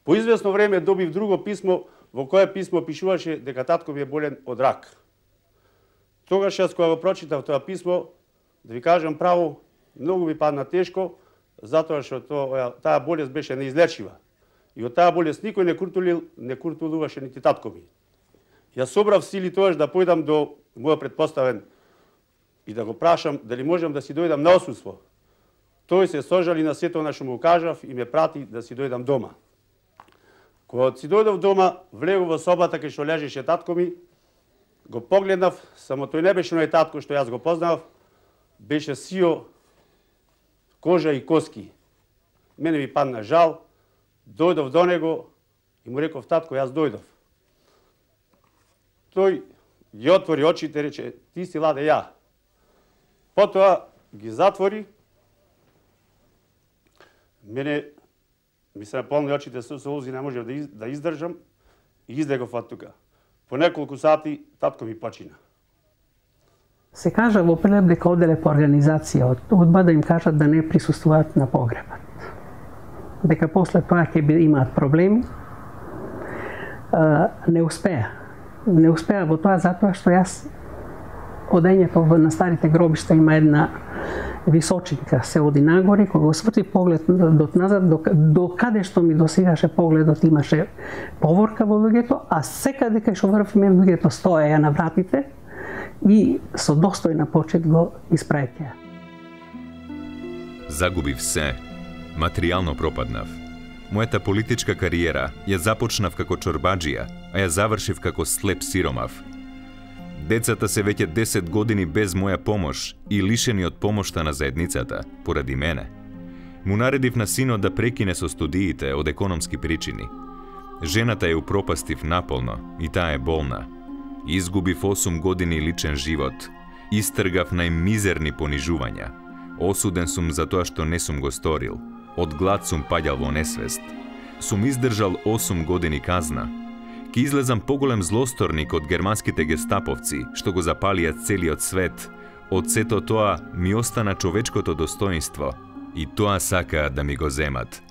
По известно време добив друго писмо, во кое писмо пишуваше дека татко ми е болен од рак. Тогаш јас кога го прочитав тоа писмо, да ви кажам право, многу ми падна тешко, затоа што тоа, таа болест беше неизлечива. И од таа болест никој не куртулил, не куртулуваше нити татко ми. Јас собрав сили тоаш да појдам до мојот предпоставен и да го прашам дали можам да си дојдам на отсуство. Тој се сожали на сето на што му кажав и ме прати да си дојдам дома. Кога си дојдов дома, влегов во собата кај што лежеше татко ми, го погледнав, само тој не беше мој татко што јас го познав, беше сио, кожа и коски. Мене ми падна жал, дојдов до него и му реков: татко, јас дојдов. Тој ги отвори очите и рече: ти си Ладе ја. Потоа ги затвори. Мене ми се наполни очите со солзи, не можев да, из, да издржам и излегов од тука. По неколку сати татко ми почина. Се кажа во Прилеп дека оделе по организација од удба да им кажат да не присуствуваат на погребот. Дека после тоа ќе имаат проблеми. Не успеа. Не успеа во тоа затоа што јас одењето на старите гробишта има една височинка се оди нагоре, кога го сврти поглед до назад, до, до каде што ми досегаше погледот имаше поворка во луѓето, а секаде кај што врвме луѓето стоеја на вратите и со достојна почит го испраќаја. Загубив се, материјално пропаднав. Мојата политичка кариера ја започнав како чорбаджија, а ја завршив како слеп сиромав. Децата се веќе десет години без моја помош и лишени од помошта на заедницата, поради мене. Му наредив на синот да прекине со студиите од економски причини. Жената ја упропастив наполно и таа е болна. Изгубив осум години личен живот. Истргав најмизерни понижувања. Осуден сум за тоа што не сум го сторил. Од глад сум паѓал во несвест. Сум издржал осум години казна. Ки излезам поголем злосторник од германските гестаповци, што го запалија целиот свет. Од сето тоа ми остана човечкото достоинство. И тоа сакаат да ми го земат.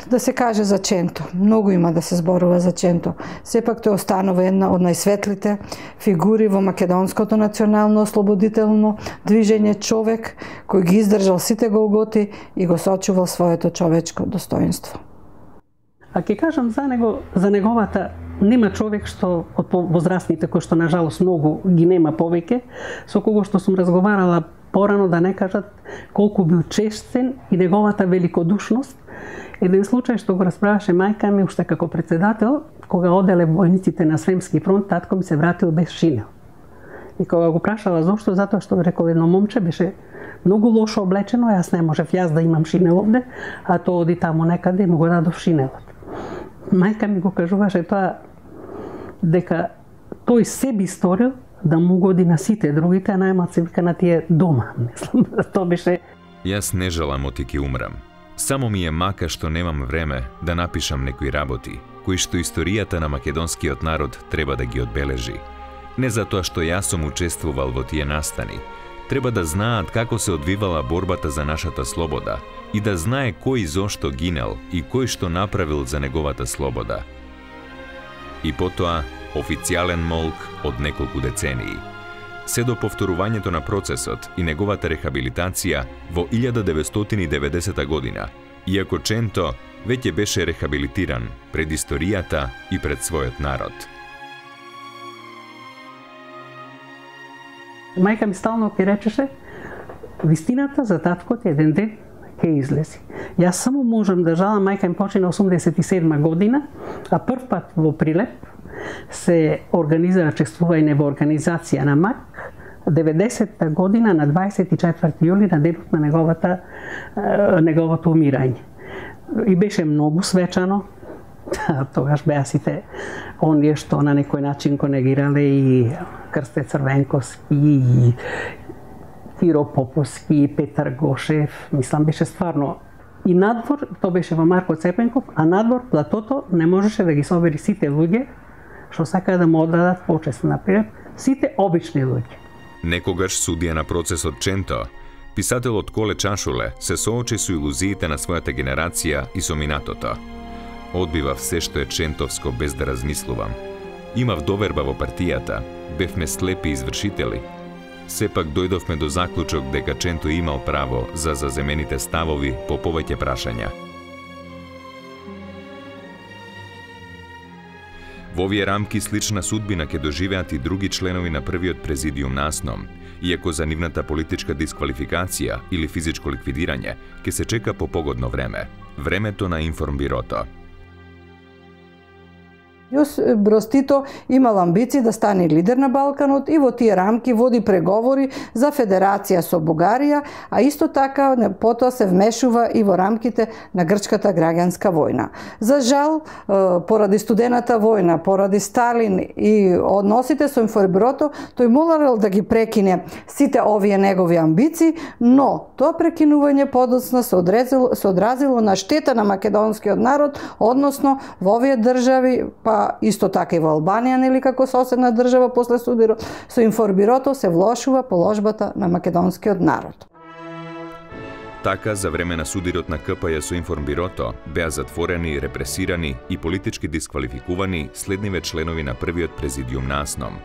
Да се каже за Ченто. Многу има да се зборува за Ченто. Сепак тој останува една од најсветлите фигури во македонското национално ослободително движење, човек кој ги издржал сите голготи и го сочувал своето човечко достоинство. А ќе кажам за него, за неговата, нема човек што од возрастните кои што на жалост многу ги нема повеќе, со кого што сум разговарала порано да не кажат колку бил честен и неговата великодушност. Еден случај што го расправаше мајка ми уште како председател, кога оделе војниците на Сремски фронт, татко ми се вратил без шинел. И кога го прашала зошто, затоа што рекол едно момче беше многу лошо облечено, јас не можев јас да имам шинел овде, а тоа оди таму некаде и му го дадов шинелот. Мајка ми го кажуваше тоа дека тој sebi сторил да му годи на сите другите, а најмалку вика на тие дома. Мислам, тоа беше. Јас не желам оти ки умрам. Само ми е мака што немам време да напишам некои работи, кои што историјата на македонскиот народ треба да ги одбележи. Не затоа што јас сум учествувал во тие настани. Треба да знаат како се одвивала борбата за нашата слобода и да знае кој зошто гинел и кој што направил за неговата слобода. И потоа официјален молк од неколку децении. Се до повторувањето на процесот и неговата рехабилитација во илјада деветстотини и деветдесета година, иако Ченто веќе беше рехабилитиран пред историјата и пред својот народ. Мајка ми стално ќе речеше, вистината за таткот еден ден ќе излези. Јас само можам да жалам, мајка ми почина осумдесет и седма година, а прв пат во Прилеп се организира чествување во организација на МАК деветдесетта година на дваесет и четврти јули на денот на неговата неговото умирање. И беше многу свечано. Тогаш беа сите оние што на некој начин го негирале и Крсте Црвенковски, и Киро Поповски, и Петар Гошев. Мислам, беше стварно. И надвор, тоа беше во Марко Цепенков, а надвор платото не можеше да ги собери сите луѓе што сакаат да му оддадат почест, например, сите обични луѓе. Некогаш судија на процесот Ченто, писателот Коле Чашуле се соочи со илузиите на својата генерација и со минатото. Одбивав се што е чентовско без да размислувам. Имав доверба во партијата, бевме слепи извршители. Сепак дојдовме до заклучок дека Ченто имал право за заземените ставови по повеќе прашања. Во овие рамки слична судбина ќе доживеат и други членови на првиот президиум на АСНОМ, иако за нивната политичка дисквалификација или физичко ликвидирање ќе се чека по погодно време, времето на Информбирото. Јос Броз Тито имал амбиции да стане лидер на Балканот и во тие рамки води преговори за федерација со Бугарија, а исто така потоа се вмешува и во рамките на грчката граѓанска војна. За жал, поради студената војна, поради Сталин и односите со Информбирото, тој морал да ги прекине сите овие негови амбиции, но тоа прекинување подоцна се одразило, се одразило на штета на македонскиот народ, односно во овие држави, па исто така и во Албанија, нели како соседна држава после судирот, со Информбирото се влошува положбата на македонскиот народ. Така, за време на судирот на КПЈ со Информбирото беа затворени, репресирани и политички дисквалификувани следниве членови на првиот президиум на АСНОМ: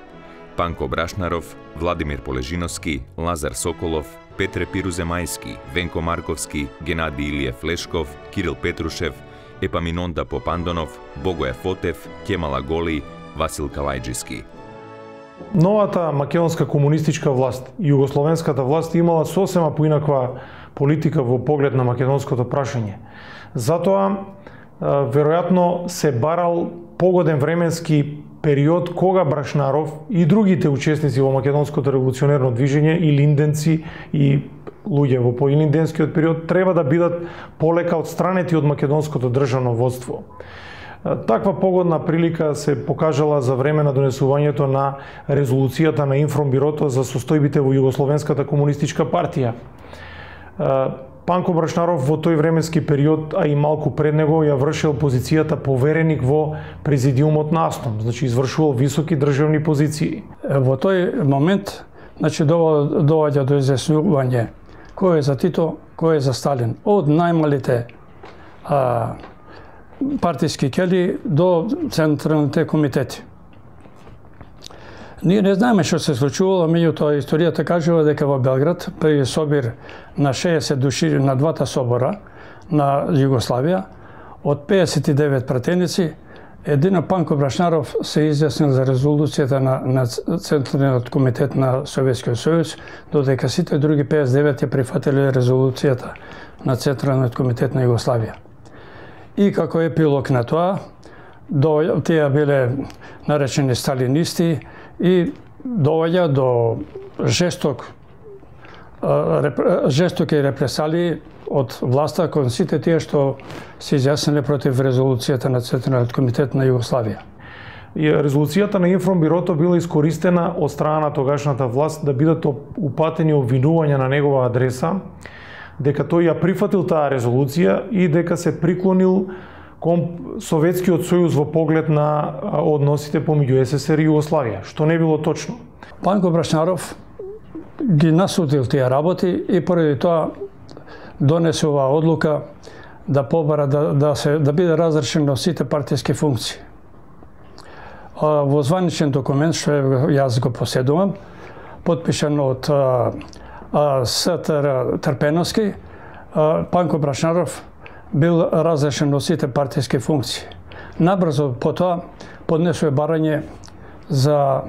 Панко Брашнаров, Владимир Полежиновски, Лазар Соколов, Петре Пируземајски, Венко Марковски, Геннади Илиев Лешков, Кирил Петрушев, Епаминонда Попандонов, Богоја Фотев, Кемала Голи, Васил Калајџиски. Новата македонска комунистичка власт и југословенската власт имала сосема поинаква политика во поглед на македонското прашање. Затоа, веројатно се барал погоден временски период кога Брашнаров и другите учесници во македонското револуционерно движење и линденци и луѓе во поилинденскиот период треба да бидат полека отстранети од македонското државно водство. Таква погодна прилика се покажала за време на донесувањето на резолуцијата на Информбирото за состојбите во Југословенската комунистичка партија. Панко Брашнаров во тој временски период, а и малку пред него, ја вршил позицијата повереник во президиумот на АСНОМ, значи извршувал високи државни позиции. Во тој момент, значи доаѓа до изјаснување кој е за Тито, кој е за Сталин, од најмалите а, партиски кели до централните комитети. Ние не знаеме што се случувало, меѓутоа историјата кажува дека во Белград при собир на шеесет души на двата собора на Југославија, од пеесет и девет пратеници, едино Панко Брашнаров се изјаснил за резолуцијата на, на Централниот комитет на Советскиот сојуз, додека сите други пеесет и девет ја прифатиле резолуцијата на Централниот комитет на Југославија. И како епилог на тоа, до, тие биле наречени сталинисти и доаѓа до жесток жестоки репресалии од власта кон сите тие што се изјасниле против резолуцијата на Централниот комитет на Југославија. И резолуцијата на Информбирото била искористена од страна на тогашната власт да бидат упатени обвинувања на негова адреса, дека тој ја прифатил таа резолуција и дека се приклонил кон Советскиот сојуз во поглед на односите помеѓу СССР и Југославија, што не било точно. Панко Брашнаров ги насудил тие работи и поради тоа донесе оваа одлука да побара да, да, се, да биде разрешен на сите партиски функции. Во званичен документ, што јас го поседувам, подпишан од С.Т.Р. Трпеновски, Панко Брашнаров бил разрешен од сите партиски функции. Набрзо потоа поднесува барање за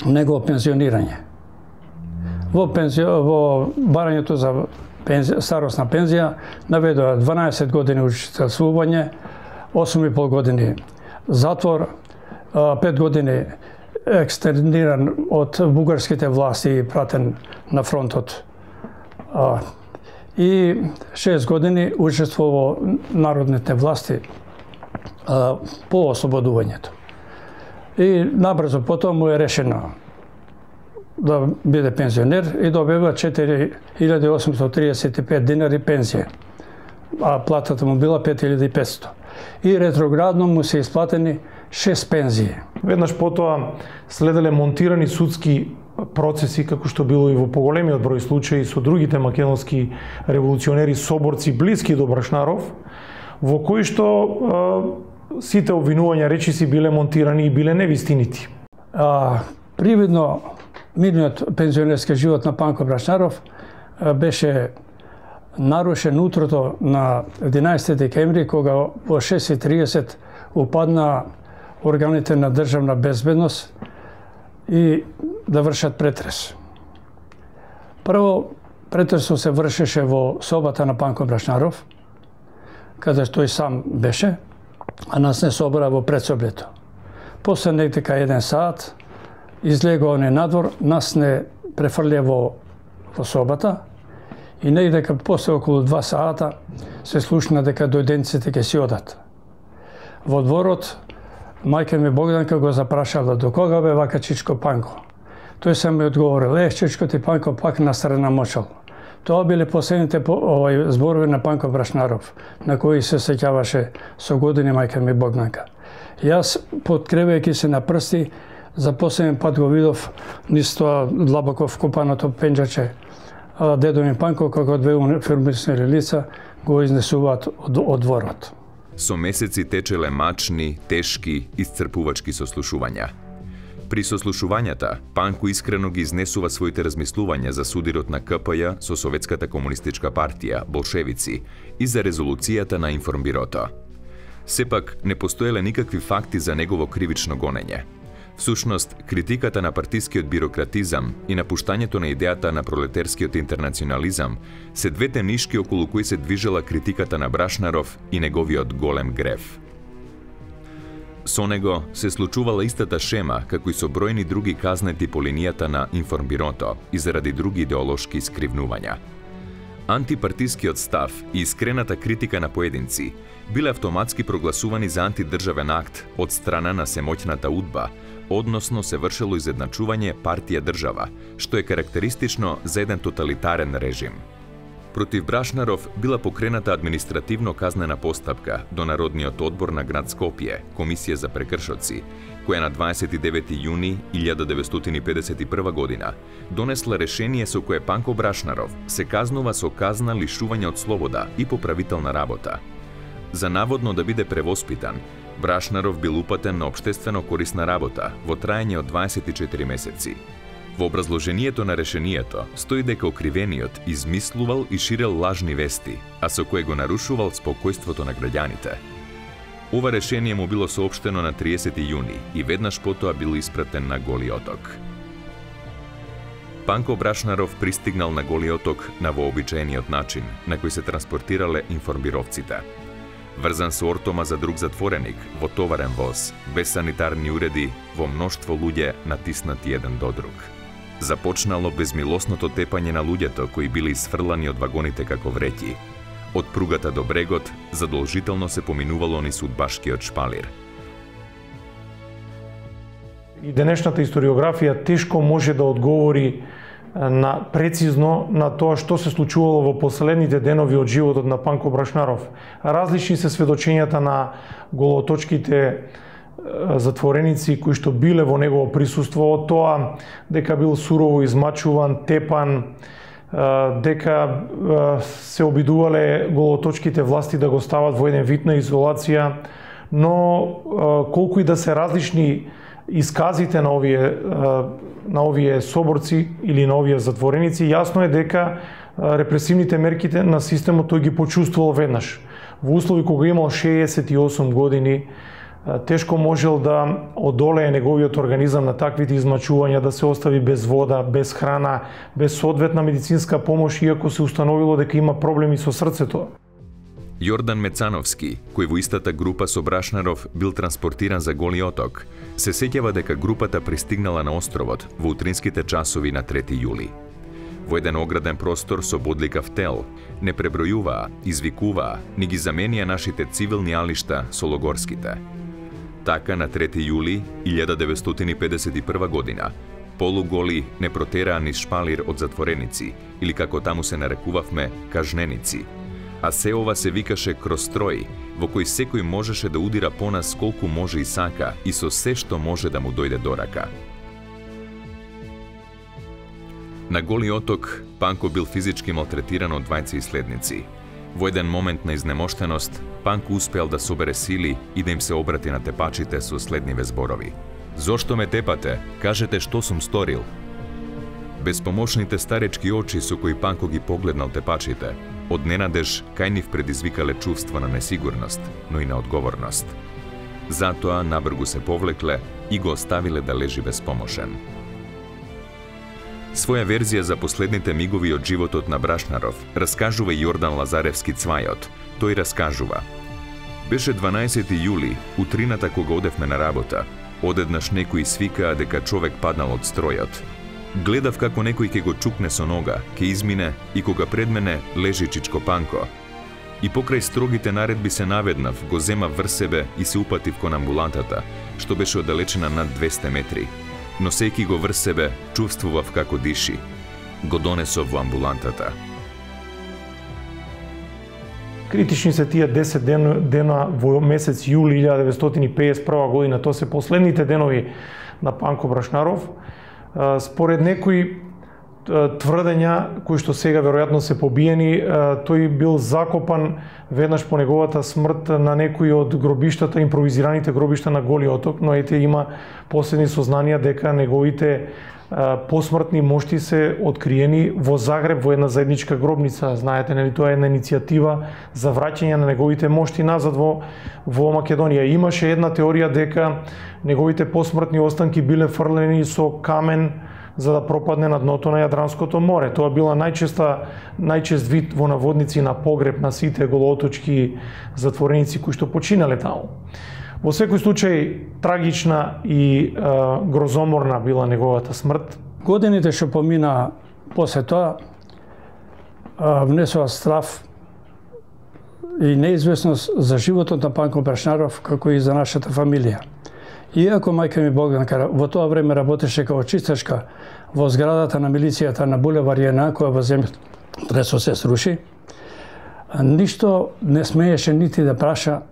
негово пензионирање. Во, пензи... во барањето за пензи... старосна пензија наведува дванаесет години учителствување, осум и пол години затвор, пет години екстерниран од бугарските власти и пратен на фронтот. И шест години учество во народните власти по ослободувањето. И набрзо потоа му е решено да биде пензионер и добива четири илјади осумстотини триесет и пет динари пензија, а платата му била пет илјади и петстотини. И ретроградно му се исплатени шест пензии. Веднаш потоа следеле монтирани судски процеси, како што било и во поголемиот број случаи со другите македонски револуционери соборци блиски до Брашнаров, во кои што а, сите обвинувања речиси биле монтирани и биле невистинити. А, привидно мирниот пензионерски живот на Панко Брашнаров а, беше нарушен утрото на единаесети декември, кога во шест и триесет упадна органите на државна безбедност и да вршат претрес. Прво, претресот се вршеше во собата на Панко Брашнаров, каде тој сам беше, а нас не собра во предсоблето. После некако еден саат излегува не надвор, нас не префрлија во, во собата и некако после околу два саата се слушна дека дојденците ќе си одат. Во дворот мајка ми Богданка го запрашала до кога бе вака чичко Панко. Тој сам ми одговорил, е, чичко ти Панко пак на страна мочал. Тоа биле последните овај зборови на Панко Брашнаров, на кои се сеќаваше со години мајка ми Богданка. Јас, подкревајќи се на прсти, за последен пат го видов низ тоа длабоко вкопаното пенџаче. Дедо ми Панко, како две униформисани лица, го изнесуваат од, од дворот. Со месеци течеле мачни, тешки, исцрпувачки сослушувања. При сослушувањата, Панко искрено ги изнесува своите размислувања за судирот на К П Ј со Советската комунистичка партија, болшевици, и за резолуцијата на Информбирото. Сепак, не постоеле никакви факти за негово кривично гонење. Всушност, критиката на партискиот бирократизам и напуштањето на идејата на пролетерскиот интернационализам се двете нишки околу кои се движела критиката на Брашнаров и неговиот голем грев. Со него се случувала истата шема како и со бројни други казнети по линијата на Информбирото и заради други идеолошки искривнувања. Антипартискиот став и искрената критика на поединци биле автоматски прогласувани за антидржавен акт од страна на семоќната удба, односно се вршело изедначување партија-држава, што е карактеристично за еден тоталитарен режим. Против Брашнаров била покрената административно-казнена постапка до Народниот одбор на град Скопје, Комисија за прекршоци, која на дваесет и девети јуни илјада деветстотини педесет и прва година донесла решение со кое Панко Брашнаров се казнува со казна лишување од слобода и поправителна работа. За наводно да биде превоспитан, Брашнаров бил упатен на општествено корисна работа во траење од дваесет и четири месеци. Во образложението на решението стои дека окривениот измислувал и ширел лажни вести, а со кое го нарушувал спокојството на граѓаните. Ова решение му било соопштено на триесети јуни и веднаш потоа бил испратен на Голи Оток. Панко Брашнаров пристигнал на Голи Оток на вообичаениот начин на кој се транспортирале информбировците. Врзан со ортома за друг затвореник, во товарен воз, без санитарни уреди, во мноштво луѓе натиснати еден до друг. Започнало безмилосното тепање на луѓето кои били сфрлани од вагоните како вреќи. Од пругата до брегот задолжително се поминувало низ удбашкиот шпалир. И денешната историографија тешко може да одговори на прецизно на тоа што се случувало во последните денови од животот на Панко Брашнаров. Различни се сведочењата на голооточките затвореници кои што биле во негово присуство, од тоа дека бил сурово измачуван, тепан, дека се обидувале голооточките власти да го стават во еден вид на изолација, но колку и да се различни исказите на овие на овие соборци или на овие затвореници, јасно е дека репресивните мерките на системот тој ги почувствувал веднаш. Во услови кога имал шеесет и осум години, тешко можел да одолее неговиот организам на таквите измачувања, да се остави без вода, без храна, без соодветна медицинска помош, иако се установило дека има проблеми со срцето. Јордан Мецановски, кој во истата група со Брашнаров бил транспортиран за Голи Оток, се сеќава дека групата пристигнала на островот во утринските часови на трети јули. Во еден ограден простор со бодликав тел, не пребројуваа, извикуваа, ни ги заменија нашите цивилни алишта со логорските. Така на трети јули илјада деветстотини педесет и прва година, полуголи не протераа низ шпалир од затвореници, или како таму се нарекувавме, кажненици, а се ова се викаше кроз строј, во кој секој можеше да удира по нас колку може и сака и со се што може да му дојде до рака. На Голи Оток, Панко бил физички малтретиран од двајца иследници. Во еден момент на изнемоштеност, Панко успеал да собере сили и да им се обрати на тепачите со следниве зборови. Зошто ме тепате? Кажете што сум сторил. Безпомошните старечки очи со кои Панко ги погледнал тепачите, од ненадеж кај нив предизвикале чувство на несигурност, но и на одговорност. Затоа набргу се повлекле и го оставиле да лежи безпомошен. Своја верзија за последните мигови од животот на Брашнаров раскажува Јордан Лазаревски Цвајот. Тој раскажува: Беше дванаесети јули, утрината кога одевме на работа. Одеднаш некои свикаа дека човек паднал од стројот. Гледав како некој ќе го чукне со нога, ќе измине и кога пред мене лежи Чичко Панко. И покрај строгите наредби се наведнав, го зема врз себе и се упатив кон амбулантата, што беше оддалечена над двесте метри. Носејќи го врз себе, чувствував како диши. Го донесов во амбулантата. Критични се тие десет дена во месец јули илјада деветстотини педесет и прва година. Тоа се последните денови на Панко Брашнаров. Според некои, тврдења кои што сега веројатно се побиени, тој бил закопан веднаш по неговата смрт на некои од гробиштата, импровизираните гробишта на Голи оток, но ете има последни сознанија дека неговите посмртни мошти се откриени во Загреб во една заедничка гробница. Знаете, нели, тоа е една иницијатива за враќање на неговите мошти назад во во Македонија. Имаше една теорија дека неговите посмртни останки биле фрлени со камен за да пропадне на дното на Јадранското море. Тоа била најчеста најчест вид во наводници на погреб на сите голооточки затвореници кои што починале таму. Во секој случај трагична и е, грозоморна била неговата смрт. Годините што помина после тоа внесува страв и неизвестност за животот на Панко Брашнаров, како и за нашата фамилија. Иако мајка ми Богданка во тоа време работеше како чистачка во зградата на милицијата на булевар Јена, која во земјотресот се сруши, ништо не смееше нити да праша,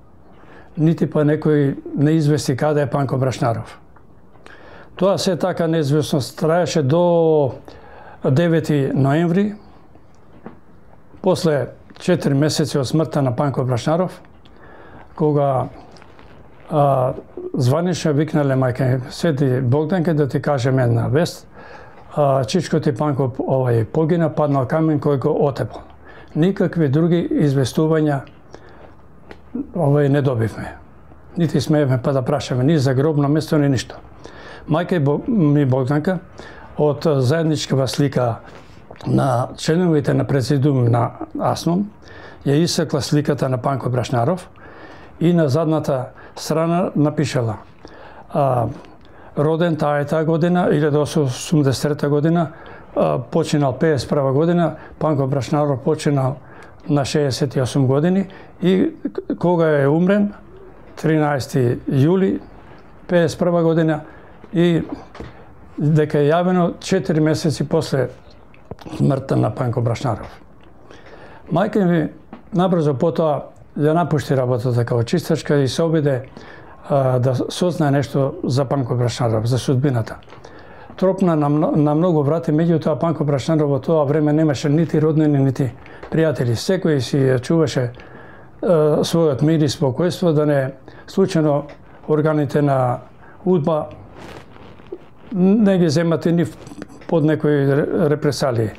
нити па некој не извести каде е Панко Брашнаров. Тоа се така неизвестност траеше до девети ноември, после четири месеци од смртта на Панко Брашнаров, кога а, званично викнале мајка Свети Богданке да ти кажем една вест, а, чичко ти Панко овај погина, паднал камен кој го отепал. Никакви други известувања овај не добивме. Нити смеевме па да прашаме ни за гробно место, ни ништо. Мајка ми Богданка од заедничкава слика на членовите на президиум на АСНОМ ја исекла сликата на Панко Брашнаров и на задната страна напишала а, роден таа е таа година, илјадесетстотини осумдесет и трета година, а, починал пеесет и прва година, Панко Брашнаров починал на шеесет и осум години и кога е умрен, тринаесети јули пеесет и прва година, и дека е јавено четири месеци после смртта на Панко Брашнаров. Мајка ми набрзо потоа ја напушти работата како чистачка и се обиде а, да сознае нешто за Панко Брашнаров, за судбината. Тропна на, на многу врати, меѓутоа Панко Брашнаров во тоа време немаше нити роднини, нити пријатели. Секој си ја чуваше а, својот мир и спокојство, да не случајно органите на УДБА не ги земат и нив под некои репресалии.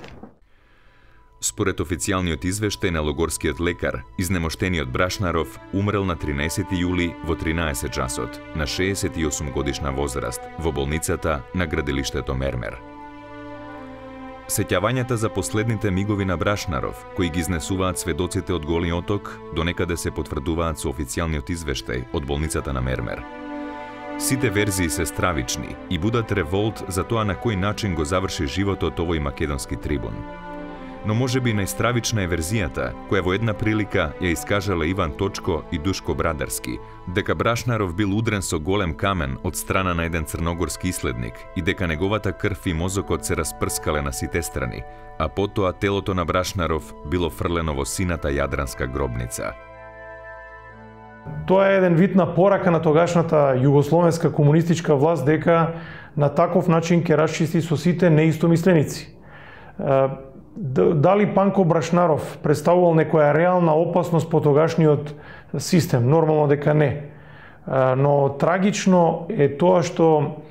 Според официјалниот извештај на логорскиот лекар, изнемоштениот Брашнаров умрел на тринаесети јули во тринаесет часот, на шеесет и осум годишна возраст, во болницата на градилиштето Мермер. Сеќавањата за последните мигови на Брашнаров, кои ги изнесуваат сведоците од Голи оток, донекаде се потврдуваат со официјалниот извештај од болницата на Мермер. Сите верзии се стравични и будат револт за тоа на кој начин го заврши животот овој македонски трибун. Но можеби најстравична е верзијата, која во една прилика ја искажала Иван Точко и Душко Брадарски, дека Брашнаров бил удрен со голем камен од страна на еден црногорски иследник и дека неговата крв и мозокот се распрскале на сите страни, а потоа телото на Брашнаров било фрлено во сината јадранска гробница. Тоа е еден вид на порака на тогашната југословенска комунистичка власт дека на таков начин ќе расчисти со сите неистомисленици. Дали Панко Брашнаров представувал некоја реална опасност по тогашниот систем? Нормално дека не. Но трагично е тоа што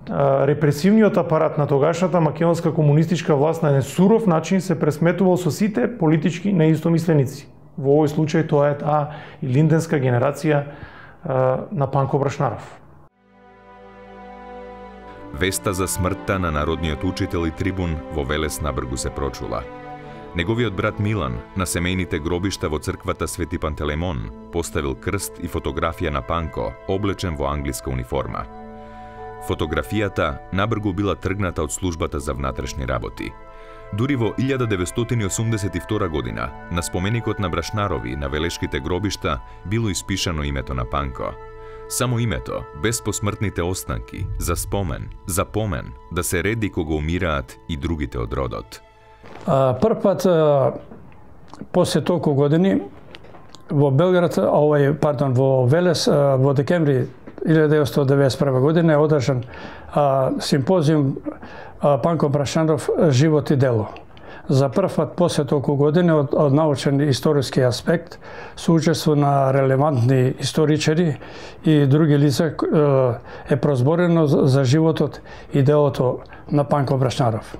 репресивниот апарат на тогашната македонска комунистичка власт на еден суров начин се пресметувал со сите политички неистомисленици. Во овој случај тоа е таа и линденска генерација на Панко Брашнаров. Веста за смртта на народниот учител и трибун во Велес на Бргу се прочула. Неговиот брат Милан на семејните гробишта во црквата Свети Пантелеймон поставил крст и фотографија на Панко, облечен во англиска униформа. Фотографијата набргу била тргната од службата за внатрешни работи. Дури во илјада деветстотини осумдесет и втора година, на споменикот на Брашнарови на велешките гробишта било испишано името на Панко. Само името, без посмртните останки, за спомен, за помен, да се реди кога умираат и другите од родот. Прв пат, после толку години, во Белград, овај, пардон, во Велес, во декември илјада деветстотини деветдесет и прва година е одржан а, симпозиум а, Панко Брашнаров живот и дело. За прв пат после толку години од, од научен историски аспект со учество на релевантни историчари и други лица е прозборено за животот и делото на Панко Брашнаров.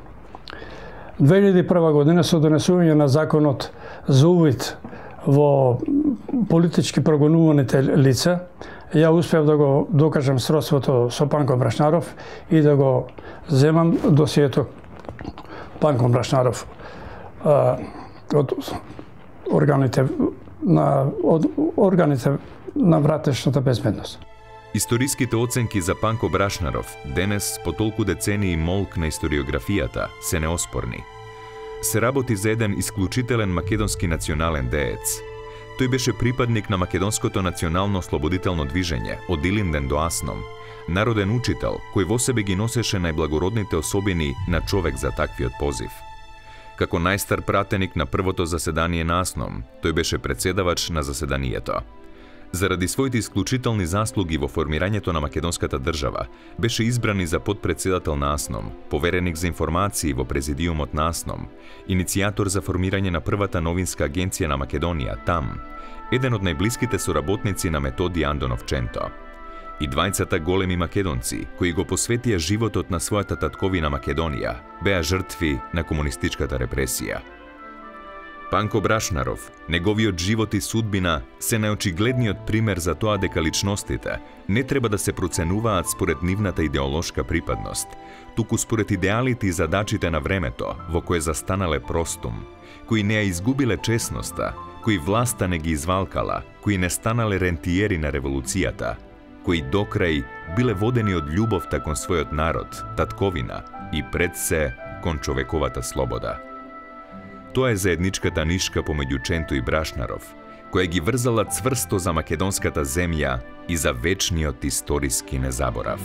две илјади и прва година со донесување на законот за увид во политички прогонуваните лица, ја успеав да го докажам сродството со Панко Брашнаров и да го земам досието Панко Брашнаров а, од органите на од органите на вратешната безбедност. Историските оценки за Панко Брашнаров денес, по толку децении молк на историографијата, се неоспорни. Се работи за еден исклучителен македонски национален деец. Тој беше припадник на македонското национално ослободително движење од Илинден до Асном, народен учител кој во себе ги носеше најблагородните особини на човек за таквиот позив. Како најстар пратеник на првото заседание на Асном, тој беше председавач на заседанието. Заради своите исклучителни заслуги во формирањето на македонската држава, беше избран и за подпредседател на Асном, повереник за информации во президиумот на Асном, иницијатор за формирање на првата новинска агенција на Македонија, ТАМ, еден од најблиските соработници на Методи Андонов Ченто. И двајцата големи македонци, кои го посветија животот на својата татковина Македонија, беа жртви на комунистичката репресија. Панко Брашнаров, неговиот живот и судбина се најочигледниот пример за тоа дека личностите не треба да се проценуваат според нивната идеолошка припадност, туку според идеалите и задачите на времето во кое застанале простум, кои не ја изгубиле честноста, кои власта не ги извалкала, кои не станале рентиери на револуцијата, кои докрај биле водени од љубовта кон својот народ, татковина и пред се кон човековата слобода. Тоа е заедничката нишка помеѓу Ченто и Брашнаров, која ги врзала цврсто за македонската земја и за вечниот историски незаборав.